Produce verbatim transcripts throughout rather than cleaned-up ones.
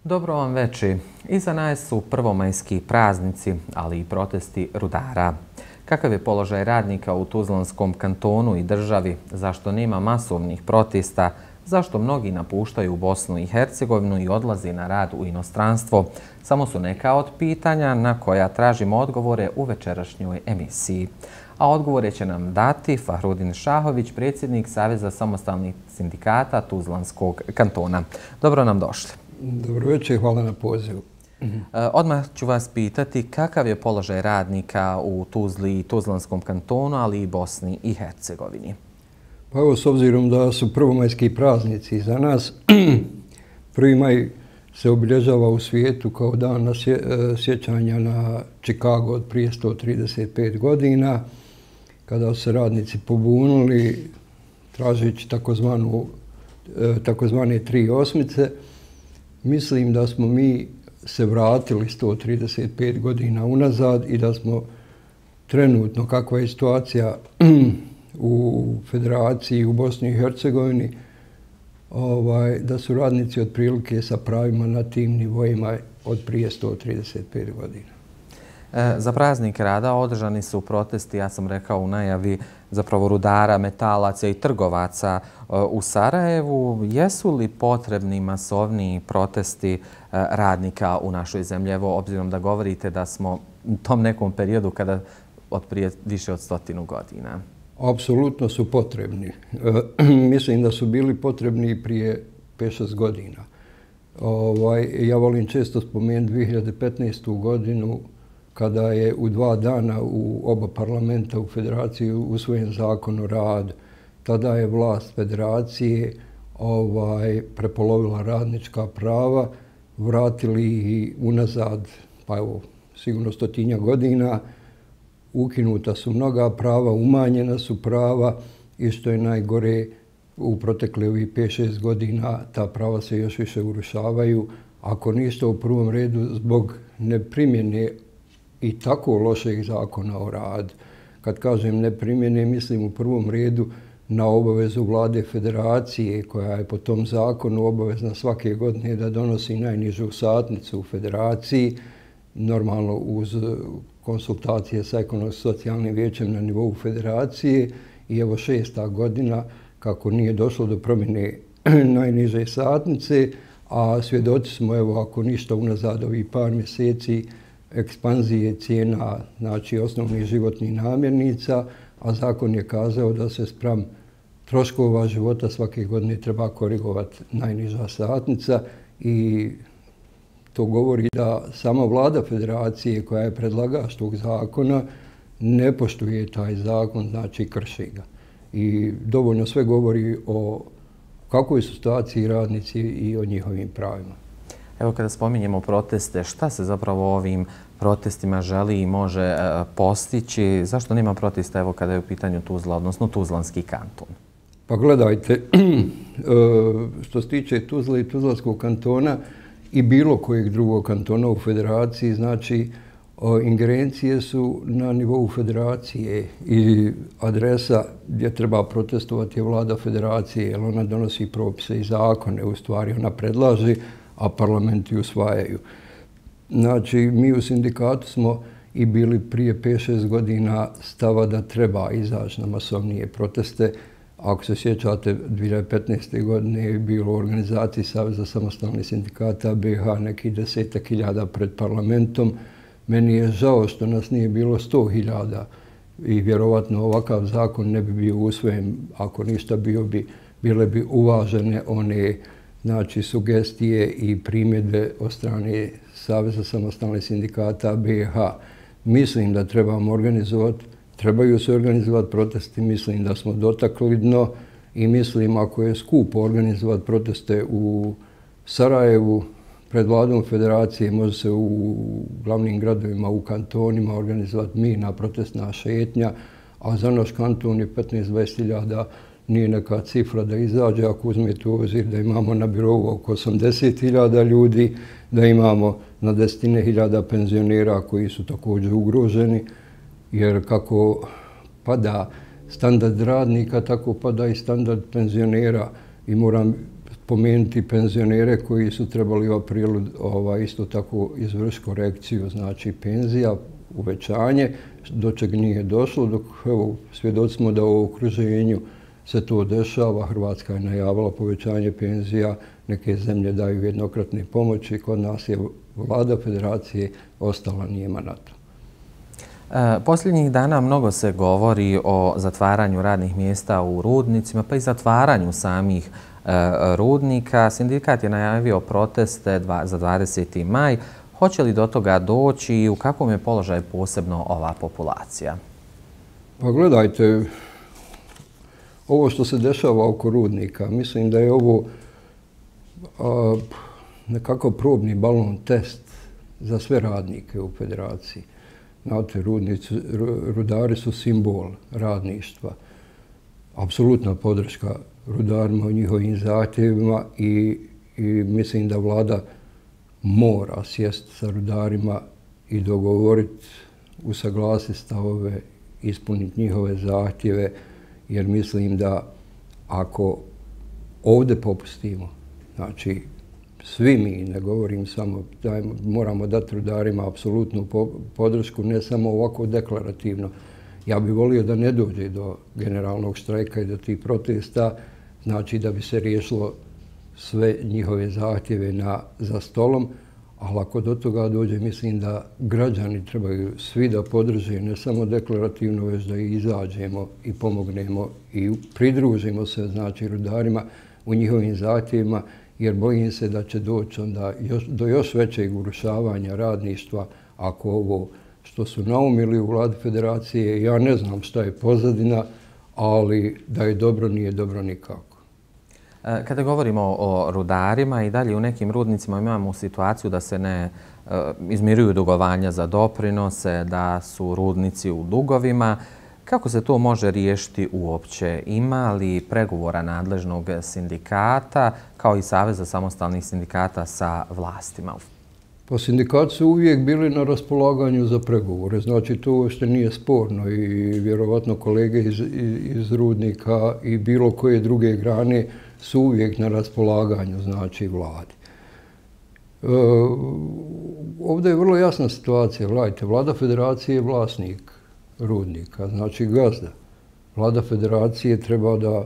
Dobro vam veče. Iza nas su prvomajski praznici, ali i protesti rudara. Kakav je položaj radnika u Tuzlanskom kantonu i državi? Zašto nema masovnih protesta? Zašto mnogi napuštaju Bosnu i Hercegovinu i odlaze na rad u inostranstvo? Samo su neka od pitanja na koja tražimo odgovore u večerašnjoj emisiji. A odgovore će nam dati Fahrudin Šahović, predsjednik Saveza samostalnih sindikata Tuzlanskog kantona. Dobro nam došli. Dobro večer, hvala na pozivu. Odmah ću vas pitati kakav je položaj radnika u Tuzli i Tuzlanskom kantonu, ali i Bosni i Hercegovini. Pa evo, s obzirom da su prvomajski praznici za nas, prvi maj se obilježava u svijetu kao dan na sjećanja na Chicago od prije sto trideset pet godina, kada su se radnici pobunili tražeći takozvanu, takozvane tri osmice. Mislim da smo mi se vratili sto trideset pet godina unazad i da smo trenutno, kakva je situacija u Federaciji, u Bosni i Hercegovini, ovaj, da su radnici otprilike sa pravima na tim nivoima od prije sto trideset pet godina. E, za praznik rada održani su protesti, ja sam rekao u najavi, zapravo rudara, metalaca i trgovaca e, u Sarajevu. Jesu li potrebni masovniji protesti e, radnika u našoj zemlji? Evo, obzirom da govorite da smo u tom nekom periodu kada od prije više od stotinu godina. Apsolutno su potrebni. E, mislim da su bili potrebni prije pet šest godina. Ovaj, ja volim često spomenuti dvije hiljade petnaestu. godinu kada je u dva dana u oba parlamenta u Federaciji usvojen zakon o radu. Tada je vlast Federacije ovaj, prepolovila radnička prava, vratili ih unazad, pa evo, sigurno stotinja godina, ukinuta su mnoga prava, umanjena su prava i što je najgore, u protekle ovih pet šest godina ta prava se još više urušavaju. Ako ništa, u prvom redu zbog neprimjene i tako lošeg zakona o radu. Kad kažem neprimjene, mislim u prvom redu na obavezu vlade Federacije, koja je po tom zakonu obavezna svake godine da donosi najnižu satnicu u Federaciji, normalno uz konsultacije sa ekonomsko-socijalnim vijećem na nivou Federacije. I evo šesta godina kako nije došlo do promjene najniže satnice, a svjedoci smo, evo, ako ništa unazad ovih par mjeseci, ekspanzije cijena, znači osnovnih životnih namirnica, a zakon je kazao da se spram troškova života svake godine treba korigovati najniža satnica i to govori da sama vlada Federacije koja je predlagač tog zakona ne poštuje taj zakon, znači krši ga. I dovoljno sve govori o kakvoj su situaciji radnici i o njihovim pravima. Evo, kada spominjemo proteste, šta se zapravo ovim protestima želi i može postići? Zašto nema protesta, evo, kada je u pitanju Tuzla, odnosno Tuzlanski kanton? Pa gledajte, što se tiče Tuzle i Tuzlanskog kantona i bilo kojeg drugog kantona u Federaciji, znači ingerencije su na nivou Federacije i adresa gdje treba protestovati je vlada Federacije, jer ona donosi propise i zakone, u stvari ona predlaže, a parlamenti usvajaju. Znači, mi u sindikatu smo i bili prije pet šest godina stava da treba izaći na masovnije proteste. Ako se sjećate, dvije hiljade petnaeste. godine je bilo u organizaciji Saveza samostalnih sindikata B i H neki desetak hiljada pred parlamentom. Meni je žao što nas nije bilo sto hiljada i vjerovatno ovakav zakon ne bi bio usvojen. Ako ništa, bio bi, bile bi uvažene one, znači, sugestije i primjedbe od strane Saveza samostalnih sindikata B i H. Mislim da trebamo organizovati, trebaju se organizovati protesti, mislim da smo dotakli dno i mislim ako je skupo organizovati proteste u Sarajevu pred vladom Federacije, može se u glavnim gradovima, u kantonima organizovati mirna protestna šetnja, a za naš kanton je petnaest do dvadeset hiljada nije neka cifra da izađe, ako uzmete u obzir da imamo na birovu oko osamdeset hiljada ljudi, da imamo na desetine hiljada penzionera koji su također ugroženi, jer kako pada standard radnika, tako pada i standard penzionera. I moram spomenuti penzionere koji su trebali u aprilu ovaj, isto tako izvršiti korekciju, znači penzija, uvećanje, do čeg nije došlo, dok evo, svjedoci smo da u okruženju se to dešava. Hrvatska je najavila povećanje penzija, neke zemlje daju jednokratne pomoći, kod nas je vlada federacije ostala nijema na to. Posljednjih dana mnogo se govori o zatvaranju radnih mjesta u rudnicima, pa i zatvaranju samih rudnika. Sindikat je najavio proteste za dvadeseti maj. Hoće li do toga doći i u kakvom je položaju posebno ova populacija? Pa gledajte, ovo što se dešava oko rudnika, mislim da je ovo a, nekako probni balon test za sve radnike u federaciji. Znate, rudnici, rudari su simbol radništva. Apsolutna podrška rudarima u njihovim zahtjevima i, i mislim da vlada mora sjesti sa rudarima i dogovoriti, usaglasiti stavove, ispuniti njihove zahtjeve, jer mislim da ako ovdje popustimo, znači svi mi, ne govorim samo, da moramo dati rudarima apsolutnu podršku, ne samo ovako deklarativno. Ja bih volio da ne dođe do generalnog štrajka i do tih protesta, znači da bi se riješilo sve njihove zahtjeve na, za stolom, ali ako do toga dođe, mislim da građani trebaju svi da podrže, ne samo deklarativno, već da i izađemo i pomognemo i pridružimo se, znači, rudarima u njihovim zahtjevima, jer bojim se da će doći onda još, do još većeg urušavanja radništva ako ovo što su naumili u vladi federacije, ja ne znam šta je pozadina, ali da je dobro, nije dobro nikako. Kada govorimo o rudarima i dalje u nekim rudnicima imamo situaciju da se ne izmiruju dugovanja za doprinose, da su rudnici u dugovima. Kako se to može riješiti uopće? Ima li pregovora nadležnog sindikata kao i Saveza samostalnih sindikata sa vlastima? Pa sindikati su uvijek bili na raspolaganju za pregovore. Znači to uopšte nije sporno i vjerovatno kolege iz, iz rudnika i bilo koje druge grane su uvijek na raspolaganju, znači vladi. E, ovdje je vrlo jasna situacija. Gledajte, vlada federacije je vlasnik rudnika, znači gazda. Vlada federacije treba da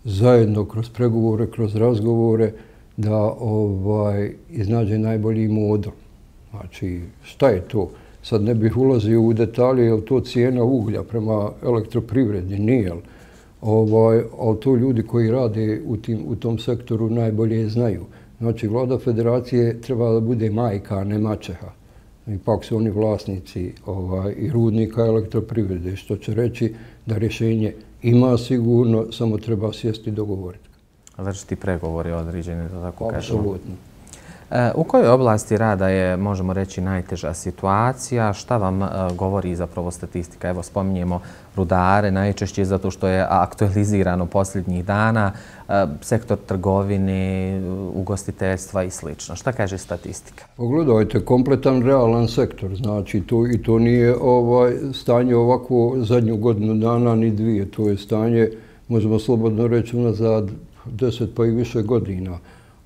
zajedno kroz pregovore, kroz razgovore da ovaj, iznađe najbolji model. Znači, šta je to? Sad ne bih ulazio u detalje, je li to cijena uglja prema elektroprivredi, nije li? Ovaj, ali to ljudi koji rade u, tim, u tom sektoru najbolje znaju. Znači, vlada federacije treba da bude majka, a ne maćeha. Ipak su oni vlasnici ovaj, i rudnika elektroprivrede, što će reći da rješenje ima sigurno, samo treba sjesti i dogovoriti. Vršiti pregovori određeni, da tako kažemo. Apsolutno. U kojoj oblasti rada je, možemo reći, najteža situacija? Šta vam govori zapravo statistika? Evo, spominjemo rudare, najčešće zato što je aktualizirano posljednjih dana, sektor trgovine, ugostiteljstva i sl. Šta kaže statistika? Pogledajte, kompletan realan sektor, znači to, i to nije ovaj, stanje ovako zadnju godinu dana ni dvije, to je stanje, možemo slobodno reći, unazad deset pa i više godina.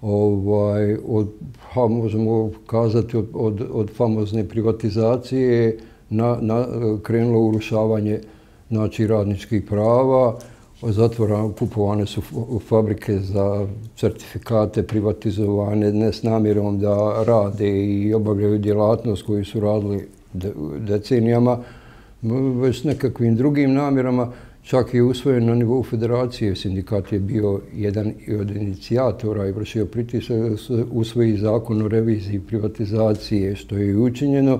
Ovaj, od, ha, možemo kazati od, od, od famozne privatizacije na, na, krenulo urušavanje znači, radničkih prava, zatvorane, kupovane su fabrike za certifikate, privatizovane ne s namjerom da rade i obavljaju djelatnost koju su radili de, decenijama, već s nekakvim drugim namjerama. Čak je usvojen na nivou federacije, sindikat je bio jedan od inicijatora i vršio pritisak da se usvoji zakon o reviziji privatizacije, što je i učinjeno.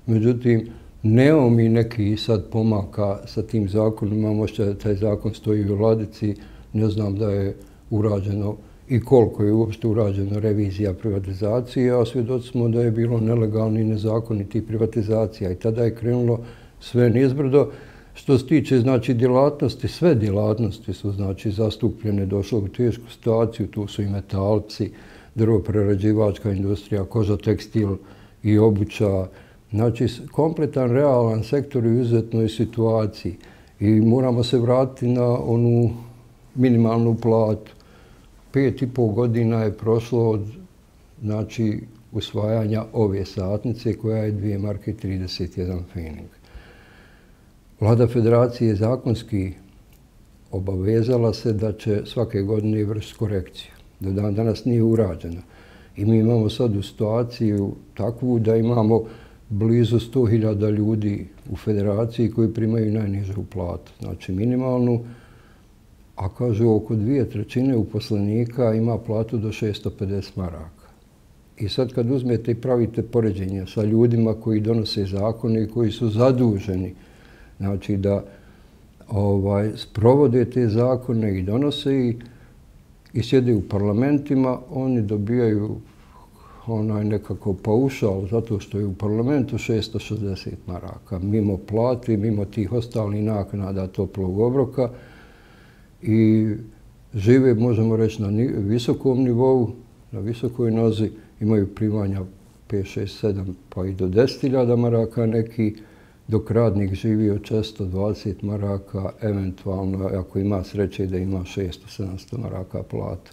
Međutim, nemamo mi neki sad pomaka sa tim zakonom, imamo što taj zakon stoji u ladici, ne znam da je urađeno i koliko je uopšte urađeno revizija privatizacije, a svjedoci smo da je bilo nelegalni i nezakonitih privatizacija i tada je krenulo sve nizbrdo. Što se tiče znači, djelatnosti, sve djelatnosti su znači, zastupljene, došle u tešku situaciju, tu su i metalci, drvoprerađivačka industrija, koža, tekstil i obuća. Znači, kompletan realan sektor u izuzetnoj situaciji i moramo se vratiti na onu minimalnu platu. pet i pol godina je prošlo od znači, usvajanja ove satnice koja je dvije marke trideset jedan pfening. Vlada federacije je zakonski obavezala se da će svake godine vršiti korekciju. Do dan danas nije urađena. I mi imamo sad u situaciju takvu da imamo blizu sto hiljada ljudi u federaciji koji primaju najnižu platu, znači minimalnu, a kažu oko dvije trećine uposlenika ima platu do šesto pedeset maraka. I sad kad uzmete i pravite poređenje sa ljudima koji donose zakone i koji su zaduženi, znači da ovaj, sprovode te zakone i donose i, i sjede u parlamentima, oni dobijaju onaj nekako paušal zato što je u parlamentu šesto šezdeset maraka, mimo plati, mimo tih ostalih naknada toplog obroka i žive, možemo reći, na visokom nivou, na visokoj nozi, imaju primanja pet, šest, sedam pa i do deset hiljada maraka neki, dok radnik živi od često dvadeset maraka, eventualno ako ima sreće da ima šesto, sedamsto maraka plata.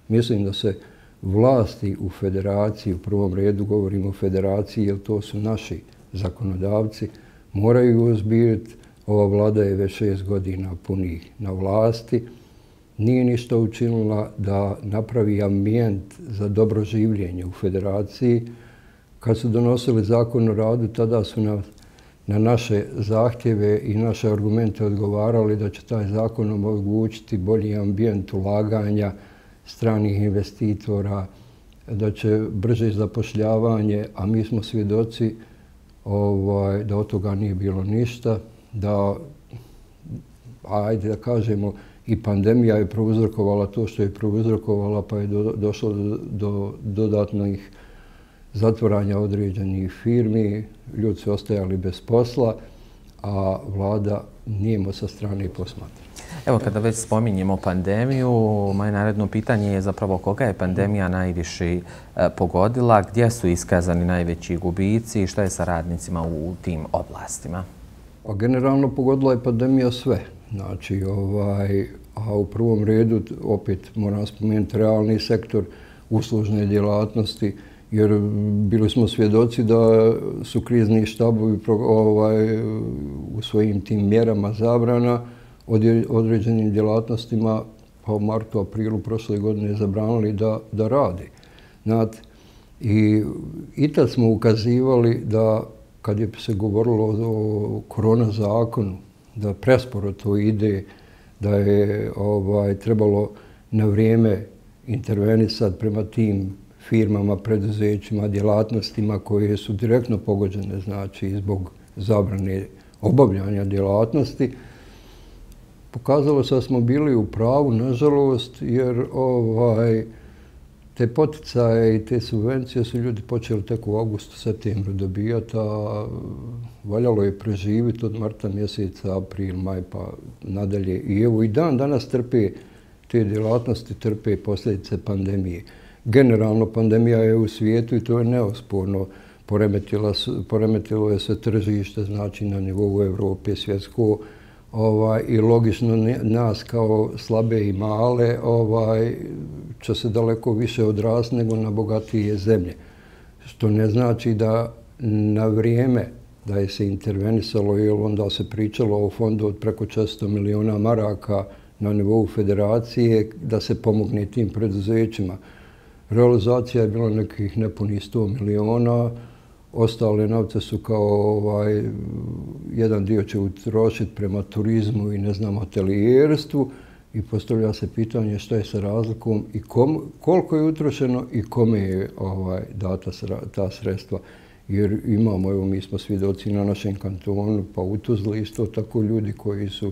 Mislim da se vlasti u federaciji, u prvom redu govorimo o federaciji jer to su naši zakonodavci, moraju ozbiljiti. Ova vlada je već šest godina punih na vlasti. Nije ništa učinila da napravi ambijent za dobro življenje u federaciji. Kad su donosili zakon o radu, tada su na, na naše zahtjeve i naše argumente odgovarali da će taj zakon omogućiti bolji ambijent ulaganja stranih investitora, da će brže zapošljavanje, a mi smo svjedoci ovaj, da od toga nije bilo ništa, da, ajde da kažemo, i pandemija je prouzrokovala to što je prouzrokovala, pa je do, došlo do, do dodatnih zatvaranja određenih firmi, ljudi su ostajali bez posla, a vlada nijemo sa strane posmatra. Evo, kada već spominjemo pandemiju, moje naredno pitanje je zapravo koga je pandemija najviše pogodila, gdje su iskazani najveći gubici i šta je sa radnicima u tim oblastima? A generalno pogodila je pandemija sve. Znači, ovaj, a u prvom redu, opet moram spomenuti realni sektor, uslužne djelatnosti, jer bili smo svjedoci da su krizni štabovi ovaj, u svojim tim mjerama zabrana određenim djelatnostima pa u martu, aprilu prošle godine zabranili da, da rade. Znate, i, i tad smo ukazivali da kad je se govorilo o korona zakonu, da presporo to ide, da je ovaj, trebalo na vrijeme intervenisati prema tim firmama, preduzećima, djelatnostima koje su direktno pogođene, znači zbog zabrane obavljanja djelatnosti. Pokazalo se da smo bili u pravu, nažalost, jer ovaj, te poticaje i te subvencije su ljudi počeli tek u augustu, septembru dobijati, a valjalo je preživiti od marta mjeseca, april, maj pa nadalje. I evo i dan danas trpe te djelatnosti, trpe posljedice pandemije. Generalno pandemija je u svijetu i to je neosporno. Poremetilo, poremetilo je se tržište, znači na nivou Evrope, svjetsko, ovaj, i logično nas kao slabe i male ovaj, će se daleko više odrasti nego na bogatije zemlje. Što ne znači da na vrijeme da je se intervenisalo, jer onda se pričalo o fondu od preko četiristo miliona maraka na nivou federacije da se pomogne tim preduzećima. Realizacija je bila nekih nepunih sto miliona, ostale novce su kao ovaj, jedan dio će utrošiti prema turizmu i ne znam, hotelijerstvu i postavlja se pitanje šta je sa razlikom i kom, koliko je utrošeno i kome je ovaj, data ta sredstva. Jer imamo, evo mi smo svjedoci na našem kantonu, pa u Tuzli isto tako ljudi koji su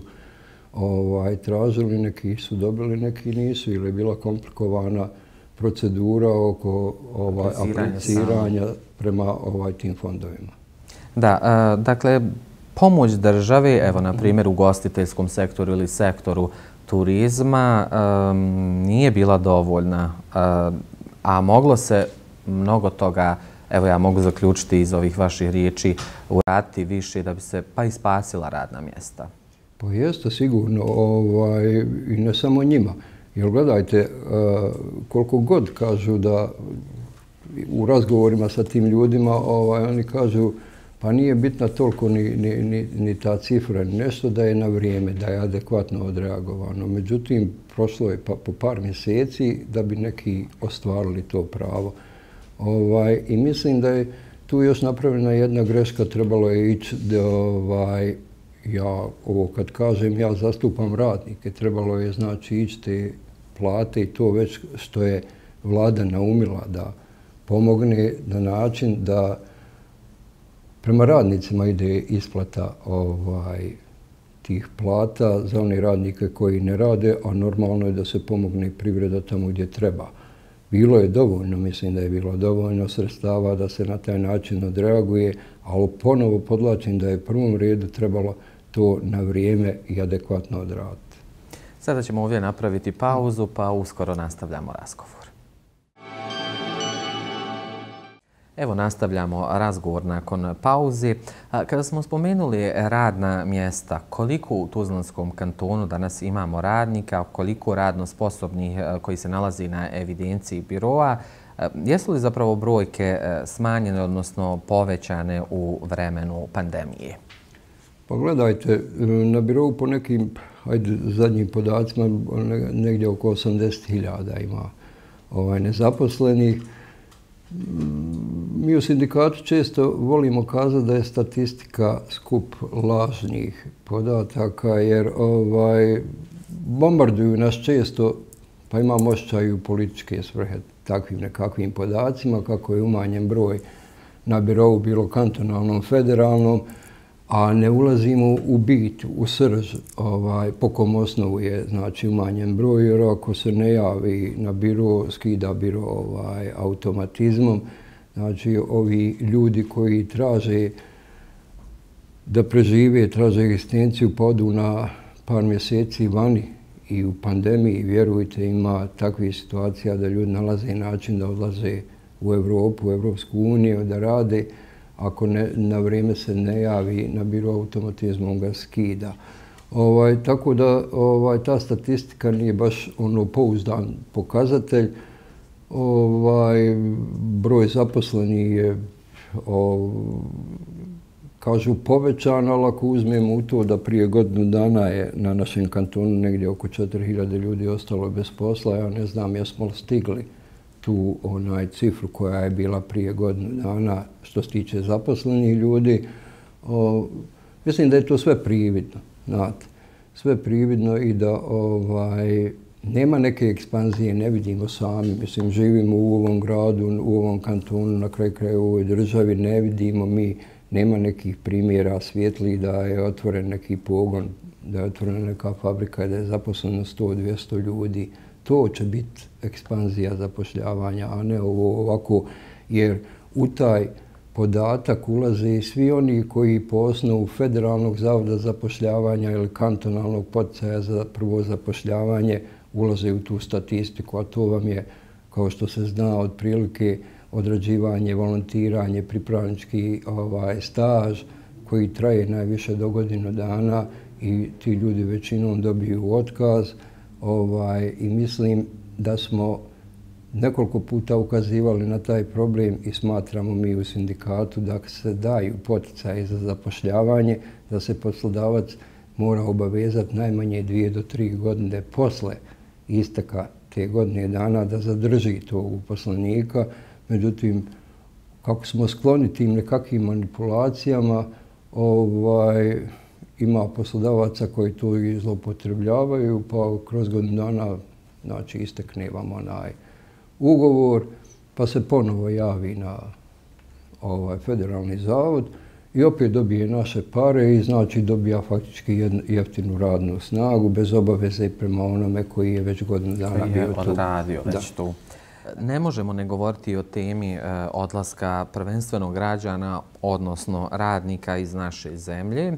ovaj, tražili, neki su dobili, neki nisu, ili je bila komplikovana procedura oko ovaj, apliciranja prema ovaj, tim fondovima. Da, a, dakle, pomoć države, evo na primjer u ugostiteljskom sektoru ili sektoru turizma, a, nije bila dovoljna, a, a moglo se mnogo toga, evo ja mogu zaključiti iz ovih vaših riječi, uraditi više da bi se pa i spasila radna mjesta. Pa jeste sigurno, ovaj, i ne samo njima. Jer gledajte, koliko god kažu da u razgovorima sa tim ljudima, ovaj, oni kažu pa nije bitna toliko ni, ni, ni, ni ta cifra, nešto da je na vrijeme, da je adekvatno odreagovano. Međutim, prošlo je pa, po par mjeseci da bi neki ostvarili to pravo. Ovaj, I mislim da je tu još napravljena jedna greška, trebalo je ići da, ovaj, ja ovo kad kažem, ja zastupam radnike, trebalo je znači ići te plate i to već što je vlada naumila da pomogne na način da prema radnicima ide isplata ovaj, tih plata za one radnike koji ne rade, a normalno je da se pomogne privreda tamo gdje treba. Bilo je dovoljno, mislim da je bilo dovoljno sredstava da se na taj način odreaguje, ali ponovo podlačim da je u prvom redu trebalo to na vrijeme i adekvatno odraditi. Sada ćemo ovdje napraviti pauzu, pa uskoro nastavljamo razgovor. Evo nastavljamo razgovor nakon pauzi. Kada smo spomenuli radna mjesta, koliko u Tuzlanskom kantonu danas imamo radnika, koliko radno sposobnih koji se nalazi na evidenciji biroa, jesu li zapravo brojke smanjene, odnosno povećane u vremenu pandemije? Pa gledajte, na birou po nekim ajde, zadnjim podacima negdje oko osamdeset hiljada ima ovaj, nezaposlenih. Mi u sindikatu često volimo kazati da je statistika skup lažnih podataka, jer ovaj, bombarduju nas često, pa imamo osjećaj u političke svrhe takvim nekakvim podacima, kako je umanjen broj na birou, bilo kantonalnom, federalnom, a ne ulazimo u bit, u srž, ovaj, po kom osnovu je znači, umanjen broj, jer ako se ne javi na biro, skida biro ovaj, automatizmom. Znači, ovi ljudi koji traže da prežive, traže egzistenciju, podu na par mjeseci vani i u pandemiji, vjerujte, ima takvih situacija da ljudi nalaze način da odlaze u Evropu, u Evropsku uniju, da rade. Ako ne, na vrijeme se ne javi na biro automatizmom ga skida. Ovaj, tako da ovaj, ta statistika nije baš ono pouzdan pokazatelj. Ovaj, broj zaposlenih je o, kažu povećan, ali ako uzmemo u to da prije godinu dana je na našem kantonu negdje oko četiri hiljade ljudi ostalo bez posla, ja ne znam jesmo li stigli tu onaj cifru koja je bila prije godinu dana što se tiče zaposlenih ljudi. O, mislim da je to sve prividno, znate. Sve prividno i da ovaj, nema neke ekspanzije, ne vidimo sami. Mislim, živimo u ovom gradu, u ovom kantonu, na kraju kraja u ovoj državi, ne vidimo mi, nema nekih primjera svijetlih da je otvoren neki pogon, da je otvorena neka fabrika, da je zaposleno sto do dvjesto ljudi. To će biti ekspanzija zapošljavanja, a ne ovo ovako, jer u taj podatak ulaze i svi oni koji po osnovu Federalnog zavoda zapošljavanja ili kantonalnog poticaja za prvo zapošljavanje ulaze u tu statistiku, a to vam je, kao što se zna, otprilike odrađivanje, volontiranje, pripravnički ovaj, staž koji traje najviše do godinu dana i ti ljudi većinom dobiju otkaz. Ovaj, I mislim da smo nekoliko puta ukazivali na taj problem i smatramo mi u sindikatu da se daju poticaje za zapošljavanje, da se poslodavac mora obavezati najmanje dvije do tri godine posle isteka te godine dana da zadrži tog uposlenika. Međutim, kako smo skloni tim nekakvim manipulacijama, ovaj, ima poslodavaca koji to i zloupotrebljavaju, pa kroz godinu dana znači, istekne vam onaj ugovor, pa se ponovo javi na ovaj, Federalni zavod i opet dobije naše pare i znači dobija faktički jeftinu radnu snagu bez obaveze prema onome koji je već godinu dana bio tu. Koji je odradio već tu. Ne možemo ne govoriti o temi e, odlaska prvenstveno građana, odnosno radnika iz naše zemlje. E,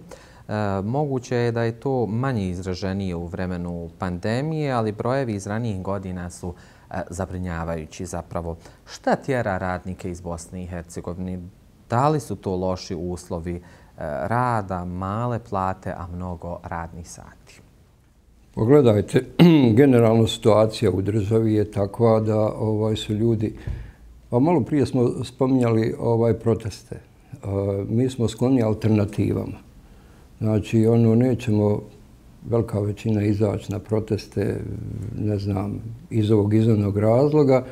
moguće je da je to manje izraženije u vremenu pandemije, ali brojevi iz ranijih godina su e, zabrinjavajući zapravo. Šta tjera radnike iz Bosne i Hercegovine? Da li su to loši uslovi e, rada, male plate, a mnogo radnih sati? Pogledajte, generalno situacija u državi je takva da ovaj, su ljudi, pa malo prije smo spominjali ovaj, proteste. Mi smo skloni alternativama. Znači, ono, nećemo velika većina izaći na proteste, ne znam, iz ovog izvornog razloga.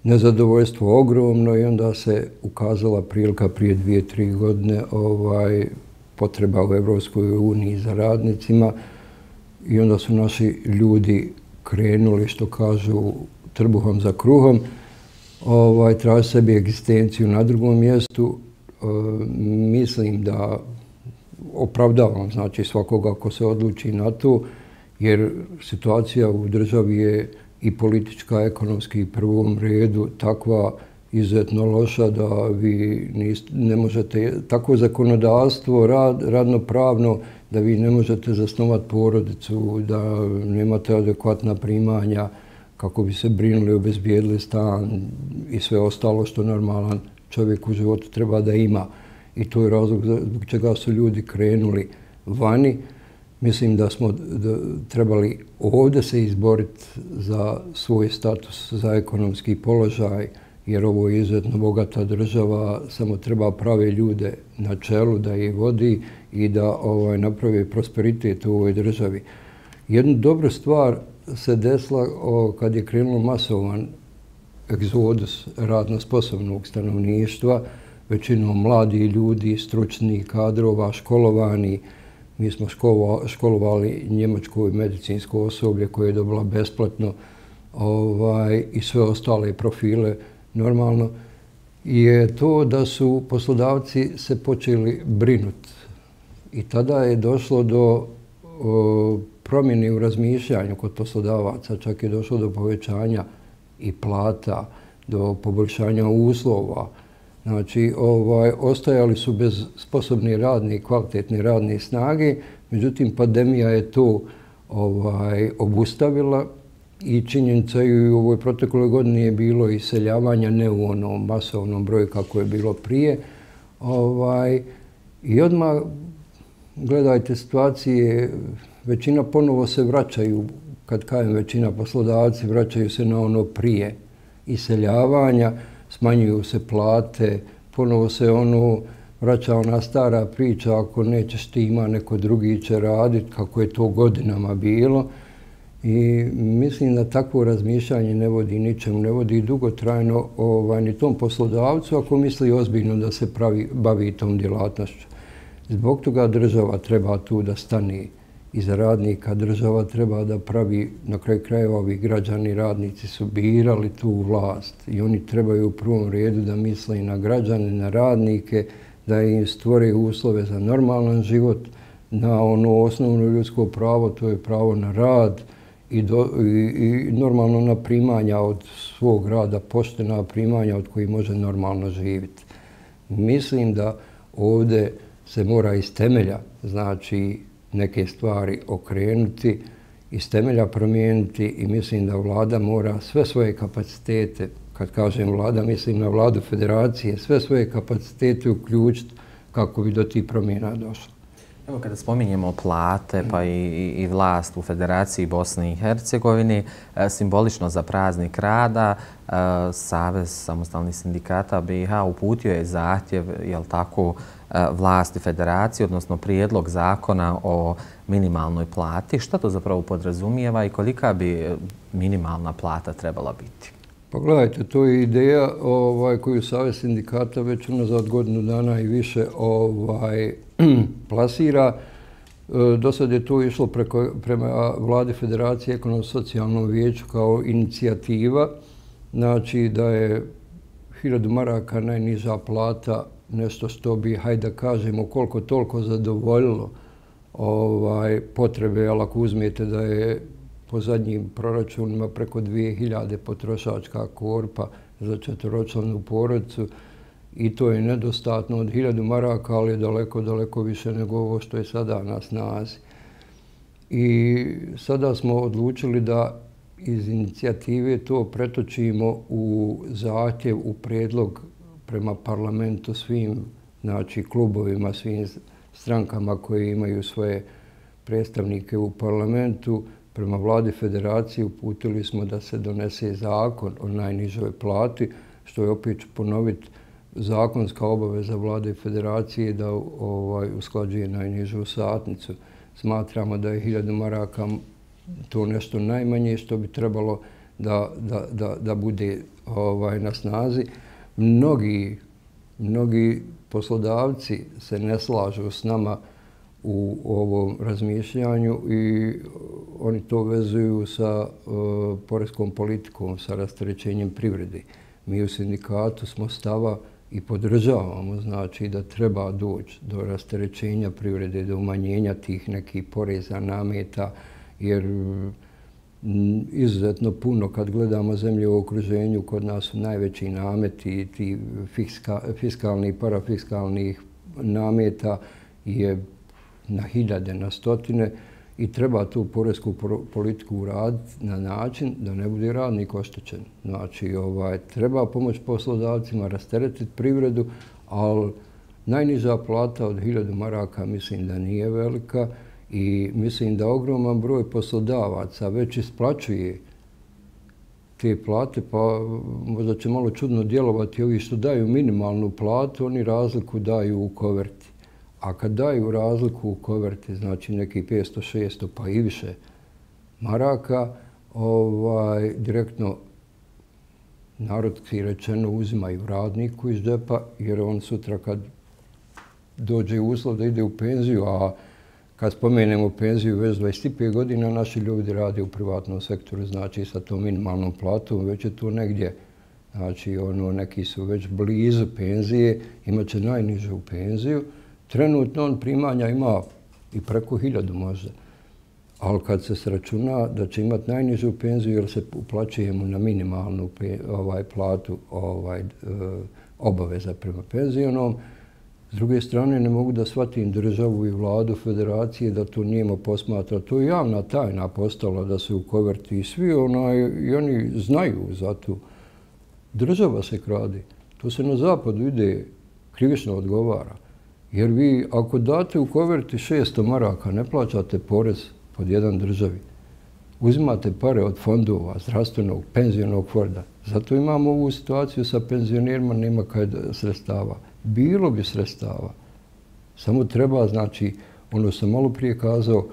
Nezadovoljstvo ogromno i onda se ukazala prilika prije dvije, tri godine ovaj, potreba u Evropskoj uniji za radnicima i onda su naši ljudi krenuli, što kažu, trbuhom za kruhom, ovaj, traži sebi egzistenciju na drugom mjestu. E, mislim da opravdavam, znači, svakoga ko se odluči na to, jer situacija u državi je i politička, ekonomski u prvom redu takva izuzetno loša da vi ne možete, tako zakonodavstvo, rad, radno-pravno, da vi ne možete zasnovati porodicu, da nemate adekvatna primanja kako bi se brinuli, obezbijedili stan i sve ostalo što normalan čovjek u životu treba da ima. I to je razlog zbog čega su ljudi krenuli vani. Mislim da smo trebali ovdje se izboriti za svoj status, za ekonomski položaj, jer ovo je izuzetno bogata država, samo treba prave ljude na čelu da je vodi i da ovaj, napravi prosperitet u ovoj državi. Jedna dobra stvar se desila o, kad je krenulo masovan egzodus radno sposobnog stanovništva, većinom mladi ljudi, stručni kadrova, školovani. Mi smo školovali njemačko i medicinsko osoblje koje je dobila besplatno ovaj, i sve ostale profile normalno. Je to da su poslodavci se počeli brinuti. I tada je došlo do o, promjene u razmišljanju kod poslodavaca, čak je došlo do povećanja i plata, do poboljšanja uslova. Znači, ovaj, ostajali su bez sposobne radne i kvalitetne radne snage, međutim, pandemija je to ovaj, obustavila i činjenica i u ovoj protekloj godini je bilo iseljavanja ne u onom masovnom broju kako je bilo prije. Ovaj, I odmah, gledajte situacije, većina ponovo se vraćaju, kad kajem većina poslodavci, vraćaju se na ono prije iseljavanja, smanjuju se plate, ponovo se ono vraća ona stara priča, ako nećeš ti ima, neko drugi će raditi, kako je to godinama bilo. I mislim da takvo razmišljanje ne vodi ničemu, ne vodi dugotrajno ovaj, ni tom poslodavcu ako misli ozbiljno da se pravi, bavi tom djelatnošću. Zbog toga država treba tu da stane iza radnika, država treba da pravi, na kraju krajeva ovi građani, radnici su birali tu vlast i oni trebaju u prvom redu da misle i na građane, na radnike, da im stvore uslove za normalan život, na ono osnovno ljudsko pravo, to je pravo na rad i, do, i, i normalno na primanja od svog rada, poštena primanja od kojih može normalno živjeti. Mislim da ovdje se mora iz temelja, znači, neke stvari okrenuti, iz temelja promijeniti i mislim da vlada mora sve svoje kapacitete, kad kažem vlada, mislim na vladu federacije, sve svoje kapacitete uključiti kako bi do tih promjena došlo. Evo kada spominjemo plate pa i, i, i vlast u Federaciji Bosne i Hercegovine, simbolično za praznik rada, Savez samostalnih sindikata B i H uputio je zahtjev, jel tako, vlasti federacije, odnosno prijedlog zakona o minimalnoj plati. Šta to zapravo podrazumijeva i kolika bi minimalna plata trebala biti? Pa gledajte, to je ideja ovaj, koju Savez sindikata već unazad godinu dana i više ovaj, plasira. Do sad je to išlo preko, prema vladi Federacije ekonomsko-socijalnom vijeću kao inicijativa. Znači da je hiljadu maraka najniža plata nešto što bi, hajde da kažemo, koliko toliko zadovoljilo ovaj, potrebe, ali ako uzmete da je po zadnjim proračunima preko dvije hiljade potrošačka korpa za četvoročlanu porodicu i to je nedostatno od hiljadu maraka, ali je daleko, daleko više nego ovo što je sada na snazi. I sada smo odlučili da iz inicijative to pretočimo u zahtjev, u predlog prema parlamentu svim, znači klubovima, svim strankama koji imaju svoje predstavnike u parlamentu. Prema vladi federacije uputili smo da se donese zakon o najnižoj plati, što je opet ću ponoviti zakonska obaveza vlade federacije da ovaj, usklađuje najnižu satnicu. Smatramo da je hiljadu maraka to nešto najmanje što bi trebalo da, da, da, da bude ovaj, na snazi. Mnogi, mnogi poslodavci se ne slažu s nama u ovom razmišljanju i oni to vezuju sa uh, poreskom politikom, sa rasterećenjem privrede. Mi u sindikatu smo stava i podržavamo, znači da treba doći do rasterećenja privrede, do umanjenja tih nekih poreza, nameta, jer m, izuzetno puno kad gledamo zemlje u okruženju, kod nas su najveći nameti, ti fiska, fiskalni i parafiskalnih nameta je na hiljade, na stotine i treba tu poresku politiku uraditi na način da ne bude radnik oštećen. Znači, ovaj, treba pomoć poslodavcima, rasteretiti privredu, ali najniža plata od hiljadu maraka mislim da nije velika i mislim da ogroman broj poslodavaca već isplaćuje te plate, pa možda će malo čudno djelovati ovi što daju minimalnu platu, oni razliku daju u koverti. A kad daju razliku u koverti, znači neki petsto, šesto pa i više maraka, ovaj, direktno narodski rečeno uzimaju radniku iz džepa, jer on sutra kad dođe uslov da ide u penziju, a kad spomenemo penziju već dvadeset pet godina naši ljudi rade u privatnom sektoru, znači sa tom minimalnom platom, već je to negdje. Znači ono, neki su već blizu penzije, imat će najnižu penziju. Trenutno on primanja ima i preko hiljadu možda, ali kad se sračuna da će imati najnižu penziju jer se uplaćuje mu na minimalnu ovaj, platu ovaj, obaveza prema penzionom, s druge strane ne mogu da shvatim državu i vladu federacije da to njima posmatra. To je javna tajna postala da se u koverti i svi onaj, i oni znaju za to. Država se krade. To se na zapadu ide krivično odgovara. Jer vi, ako date u koverti šesto maraka, ne plaćate porez pod jedan državi. Uzimate pare od fondova, zdravstvenog, penzionog fonda. Zato imamo ovu situaciju sa penzionerima, nema kaj sredstava. Bilo bi sredstava. Samo treba, znači, ono sam malo prije kazao,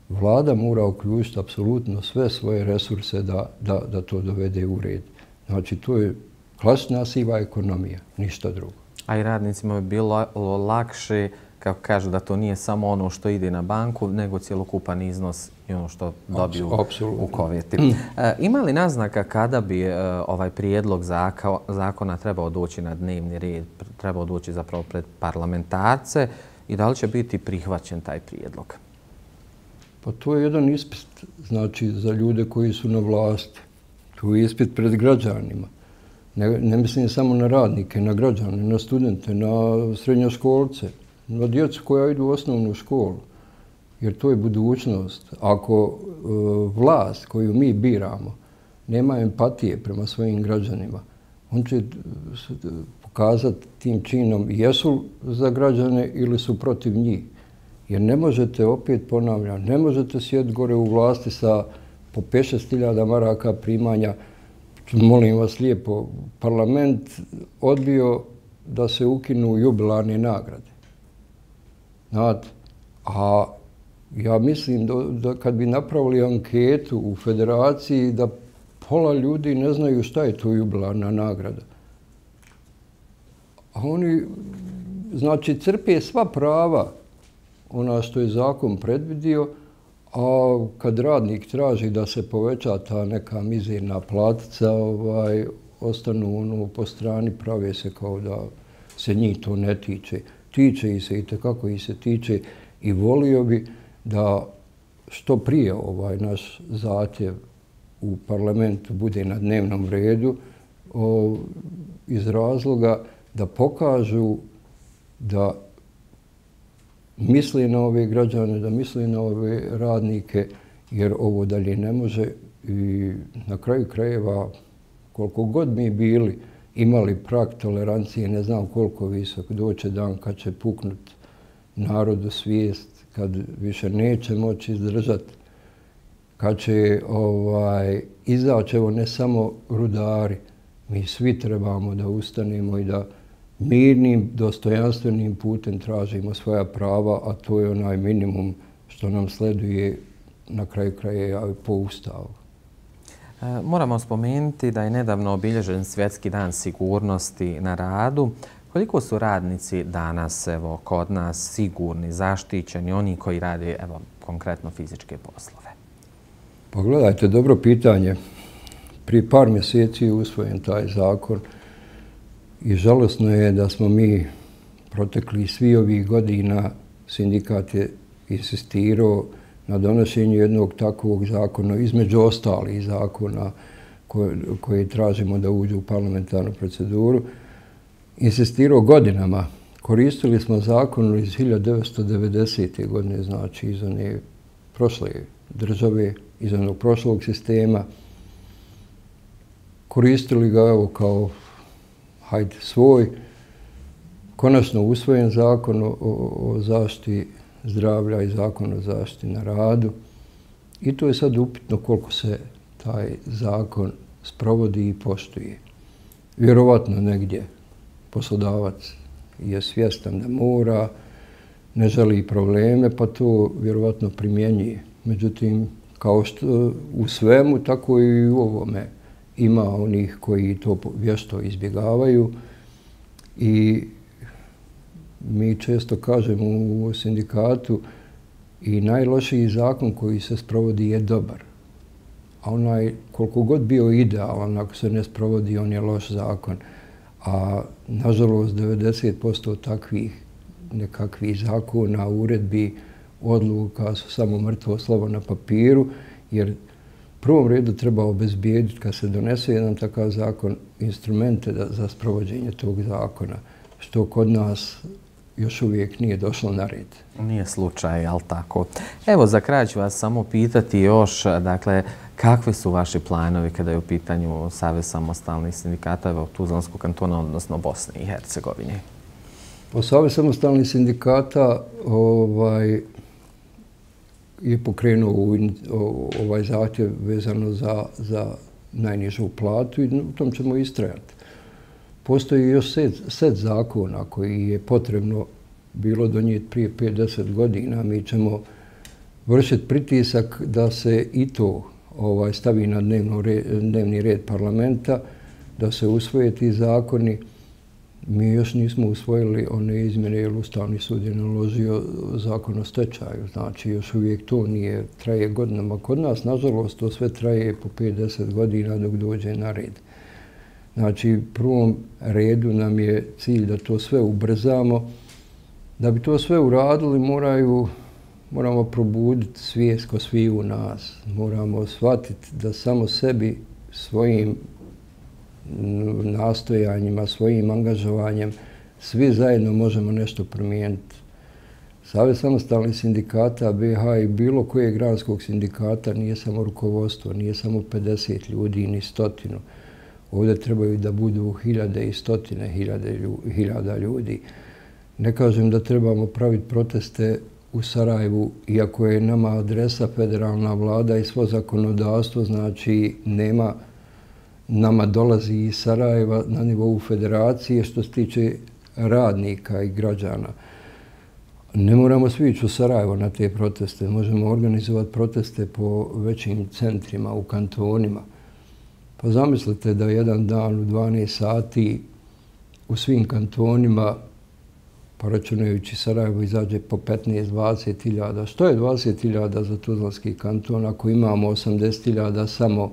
vlada mora uključiti apsolutno sve svoje resurse da, da, da to dovede u red. Znači, to je klasična siva ekonomija, ništa drugo. A i radnicima bi bilo lakše, kako kažu, da to nije samo ono što ide na banku, nego cjelokupan iznos i ono što dobiju Absolutno. U koverti. E, ima li naznaka kada bi e, ovaj prijedlog zaka, zakona trebao doći na dnevni red, trebao doći zapravo pred parlamentarce i da li će biti prihvaćen taj prijedlog? Pa to je jedan ispit, znači, za ljude koji su na vlasti. To je ispit pred građanima. Ne, ne mislim samo na radnike, na građane, na studente, na srednjoškolce, na djecu koja idu u osnovnu školu. Jer to je budućnost. Ako e, vlast koju mi biramo nema empatije prema svojim građanima, on će pokazati tim činom jesu za građane ili su protiv njih. Jer ne možete, opet ponavljam, ne možete sjediti gore u vlasti sa po pet šest hiljada maraka primanja. Molim vas lijepo, parlament odbio da se ukinu jubilarne nagrade. Znate, a ja mislim da, da kad bi napravili anketu u federaciji da pola ljudi ne znaju šta je to jubilarna nagrada. A oni, znači, crpe sva prava ona što je zakon predvidio, a kad radnik traži da se poveća ta neka mizerna platica, ovaj, ostanu ono po strani, prave se kao da se njih to ne tiče. Tiče i se i tekako i se tiče i volio bi da što prije ovaj naš zahtjev u parlamentu bude na dnevnom redu o, iz razloga da pokažu da misli na ove građane, da misli na ove radnike, jer ovo dalje ne može i na kraju krajeva, koliko god mi bili imali prag tolerancije, ne znam koliko visok, doće dan kad će puknut narodu svijest, kad više neće moći izdržati, kad će ovaj, izaći, evo ne samo rudari, mi svi trebamo da ustanemo i da mirnim, dostojanstvenim putem tražimo svoja prava, a to je onaj minimum što nam sleduje na kraju krajeva po Ustavu. E, moramo spomenuti da je nedavno obilježen Svjetski dan sigurnosti na radu. Koliko su radnici danas evo, kod nas sigurni, zaštićeni, oni koji rade evo, konkretno fizičke poslove? Pogledajte, dobro pitanje. Prije par mjeseci je usvojen taj zakon i žalosno je da smo mi protekli svi ovih godina, sindikat je insistirao na donošenju jednog takvog zakona, između ostalih zakona koje, koje tražimo da uđu u parlamentarnu proceduru, insistirao godinama. Koristili smo zakon iz hiljadu devetsto devedesete. godine, znači iz one prošle države, iz onog prošlog sistema. Koristili ga evo kao hajde svoj. Konačno usvojen zakon o, o zaštiti zdravlja i zakon o zaštiti na radu. I to je sad upitno koliko se taj zakon sprovodi i poštuje. Vjerovatno negdje poslodavac je svjestan da mora, ne želi probleme, pa to vjerovatno primjenjuje. Međutim, kao što u svemu, tako i u ovome ima onih koji to vješto izbjegavaju i mi često kažemo u sindikatu i najlošiji zakon koji se sprovodi je dobar. A onaj, koliko god bio idealan, ako se ne sprovodi, on je loš zakon. A nažalost, devedeset posto takvih nekakvih zakona, uredbi, odluka su samo mrtvo slovo na papiru, jer u prvom redu treba obezbijediti, kad se donese jedan takav zakon, instrumente da, za sprovođenje tog zakona, što kod nas još uvijek nije došlo na red. Nije slučaj, ali tako. Evo, za kraj ću vas samo pitati još, dakle, kakvi su vaši planovi kada je u pitanju Savez samostalnih sindikata u Tuzlanskog kantona, odnosno Bosne i Hercegovine? Po Savez samostalnih sindikata ovaj, je pokrenuo ovaj zahtjev vezano za, za najnižu platu i u tom ćemo istrajati. Postoji još set, set zakona koji je potrebno bilo donijeti prije pet do deset godina. Mi ćemo vršiti pritisak da se i to ovaj, stavi na dnevno red, dnevni red parlamenta, da se usvoje ti zakoni. Mi još nismo usvojili one izmjene jer Ustavni sud je naložio zakon o stečaju. Znači, još uvijek to nije, traje godinama. Kod nas, nažalost, to sve traje po pet do deset godina dok dođe na red. Znači, u prvom redu nam je cilj da to sve ubrzamo. Da bi to sve uradili, moraju, moramo probuditi svijest kod svih u nas. Moramo shvatiti da samo sebi, svojim nastojanjima, svojim angažovanjem, svi zajedno možemo nešto promijeniti. Savez samostalnih sindikata B i H i bilo kojeg granskog sindikata nije samo rukovodstvo, nije samo pedeset ljudi ni stotinu. Ovdje trebaju da budu hiljade i stotine hiljade, hiljada ljudi. Ne kažem da trebamo praviti proteste u Sarajevu, iako je nama adresa federalna vlada i svo zakonodavstvo, znači nema, nama dolazi iz Sarajeva na nivou federacije što se tiče radnika i građana. Ne moramo svi ići u Sarajevo na te proteste, možemo organizovati proteste po većim centrima, u kantonima. Pa zamislite da jedan dan u dvanaest sati u svim kantonima, pa računajući Sarajevo, izađe po petnaest do dvadeset hiljada. Što je dvadeset hiljada za Tuzlanski kanton ako imamo osamdeset hiljada samo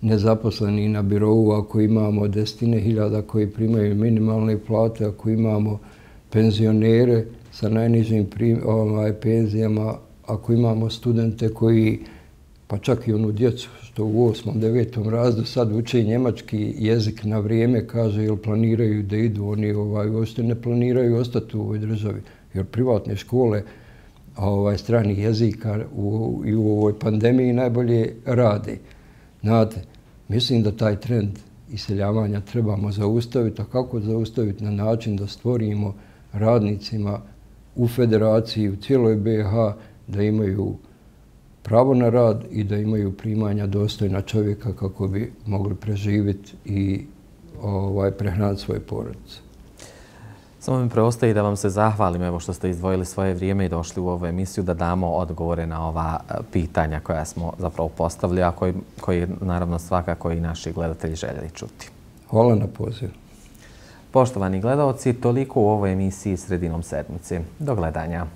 nezaposleni na birovu, ako imamo desetine hiljada koji primaju minimalne plate, ako imamo penzionere sa najnižim prim, ovaj, penzijama, ako imamo studente koji, pa čak i onu djecu što u osmom, devetom razredu sad uče njemački jezik na vrijeme, kaže, jel planiraju da idu, oni ovaj, uopšte ne planiraju ostati u ovoj državi, jer privatne škole ovaj, stranih jezika u, i u ovoj pandemiji najbolje rade. Znate, mislim da taj trend iseljavanja trebamo zaustaviti, a kako zaustaviti na način da stvorimo radnicima u federaciji, u cijeloj B i H, da imaju pravo na rad i da imaju primanja dostojna čovjeka kako bi mogli preživjeti i ovaj, prehraniti svoje porodice. Samo mi preostaje da vam se zahvalim evo što ste izdvojili svoje vrijeme i došli u ovu emisiju da damo odgovore na ova pitanja koja smo zapravo postavili, a koji, koji naravno svakako i naši gledatelji željeli čuti. Hvala na pozivu. Poštovani gledalci, toliko u ovoj emisiji Sredinom sedmice. Do gledanja.